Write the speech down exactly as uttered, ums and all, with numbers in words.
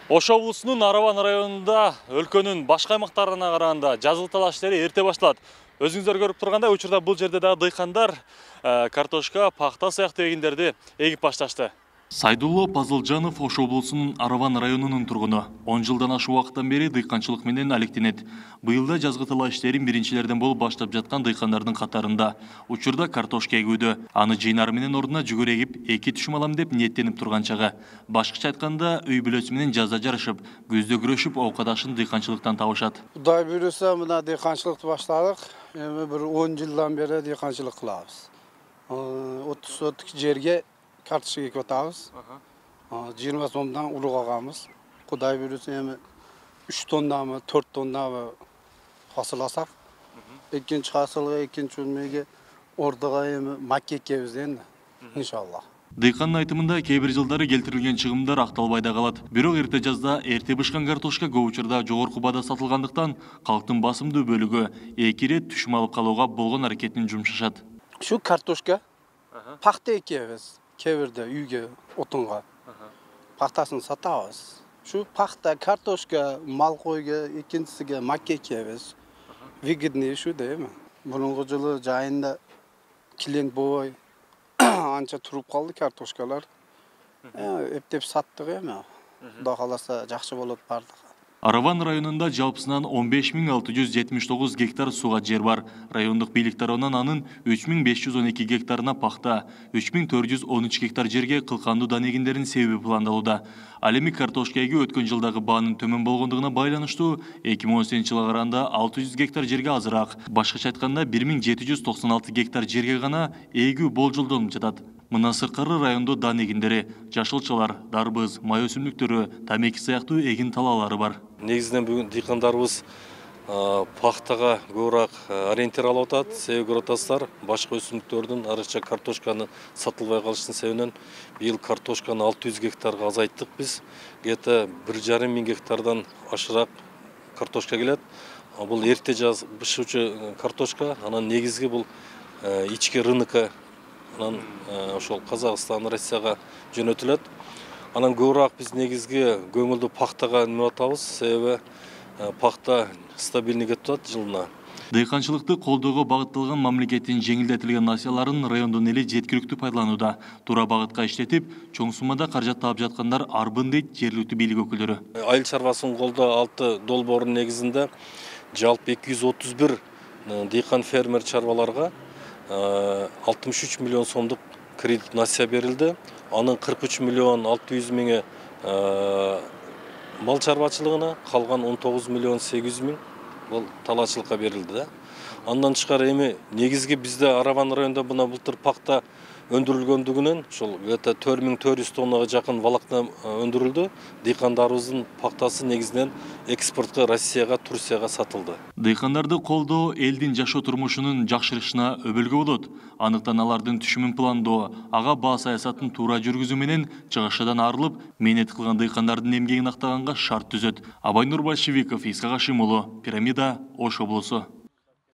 Ош облусунун Араван районунда өлкөнүн башка аймактарына караганда жазгы талаш иштери эрте башталат. Өзүңүздөр көрүп тургандай, учурда бул жерде дагы дыйкандар картошка, пахта сыяктуу эгиндерди эгип башташты. Сайдулло Пазылжанов Ош облусунун Араван районунун тургуну. он жылдан ашуун убакыттан бери дыйканчылык менен алектенет. Быйыл да жазгы талаш иштерин биринчилерден болуп баштап жаткан дыйкандардын катарында. Учурда картошка эгүүдө. Аны жыйнары менен ордуна жүгөр эгип, эки түшүм алам деп ниеттенип турган чагы. Башкача айтканда, үй бүлөсү менен жазда жарышып, күздө күрөшүп, оокаташын дыйканчылыктан табышат. Кудай буйруса, мына дыйканчылыкты баштадык. Эми бир он жылдан бери дыйканчылык кылабыз. отуз соток жерге картошка экип атабыз. жыйырма сомдон улук агабыз. Кудай буйруса, эми үч тоннамы, төрт тоннамы фасыл алсак, экинчи фасылга, экинчи үлмөгө ордуга эми макка экебиз энди, иншалла. Дыйкандын айтымында кээ бир жылдары келтирилген чыгымдар акталбай да калат. Бирок эрте жазда эрте бышкан картошка көп учурда жогорку баада сатылгандыктан калктын басымдуу бөлүгү эки ирет түшүм алып калууга болгон аракетин жумшашат. Şu kartoşka, pahta ekebиз, kebirde үйгө, отунга. Пахтасын сатабыз. Şu pahta, kartoşka, mal koyga, ikincisiga makka ekebиз. Выгодный şu değil mi? Bunun жылы жайында килең болбой анча туруп калды картошкалар. Эптеп саттык эми. Кудай кааласа жакшы болот бардыгы. Араван районунда жалпысынан он беш миң алты жүз жетимиш тогуз гектар сууга жер бар. Райондук бийлик тарабынан анын үч миң беш жүз он эки гектарына пахта, үч миң төрт жүз он үч гектар жерге кылкандуу дан эгиндеринин себеби пландалууда. Ал эми картошка эгүү өткөн жылдагы баанын төмөн болгондугуна байланыштуу эки миң он сегизинчи жылга караганда алты жүз гектар жерге азыраак. Башкача айтканда бир миң жети жүз токсон алты гектар жерге гана эгүү болжолдонуп жатат. Мына сырткары райондо дан эгиндери, жашылчалар, дарбыз, май өсүмдүктөрү, тамеки сыяктуу эгин талаалары бар. Негизинен бүгүн дыйкандарыбыз пахтага көбүрөөк ориентир алып атат. Себеби көрүп атасыздар, башка өсүмдүктөрдүн, арыкча картошканы сатылбай калыштын себебинен быйыл картошканы алты жүз гектарга азайттык биз. Где-то бир жарым миң гектардан ашыраак картошка келет. Бул эрте жаз бышуучу картошка, анан негизги бул ички рынокко, анан ошол Казакстан, Россияга жөнөтүлөт. Анан көбүрөөк биз негизги көңүлдү пахтага неме атабыз, себеби пахта стабилдүү кетип атат жылына. Дыйканчылыкты колдоого багытталган мамлекеттин жеңилдетилген насыяларын райондун эли жеткиликтүү пайдаланууда. Туура багытка иштетип, чоң суммада каражат таап жаткандар арбын дейт жергиликтүү бийлик өкүлдөрү. Айыл чарбасын колдоо алты долбоорунун негизинде жалпы эки жүз отуз бир дыйкан фермер чарбаларга алтымыш үч миллион сомдук кредит насыя берилди. Анын кырк үч миллион алты жүз миңи мал чарбачылыгына, калган он тогуз миллион сегиз жүз миң бул талаачылыкка берилди. Андан тышкары эми негизги бизде Араван районунда мына былтыр пахта өндүрүлгөндүгүнөн ошол где-то төрт миң төрт жүз тоннага жакын волокна өндүрүлдү. Дыйкандарыбыздын пахтасы негизинен экспортко Россияга, Турцияга сатылды. Дыйкандарды колдоо элдин жашоо турмушунун жакшырышына өбөлгө болот. Андыктан алардын түшүмүн пландоо, ага баа саясатын туура жүргүзүү менен чыгышадан арылып, мээнет кылган дыйкандардын эмгегин актаганга шарт түзөт. Абайнур Большевиков, Исхак Ашим уулу, Пирамида, Ош облусу.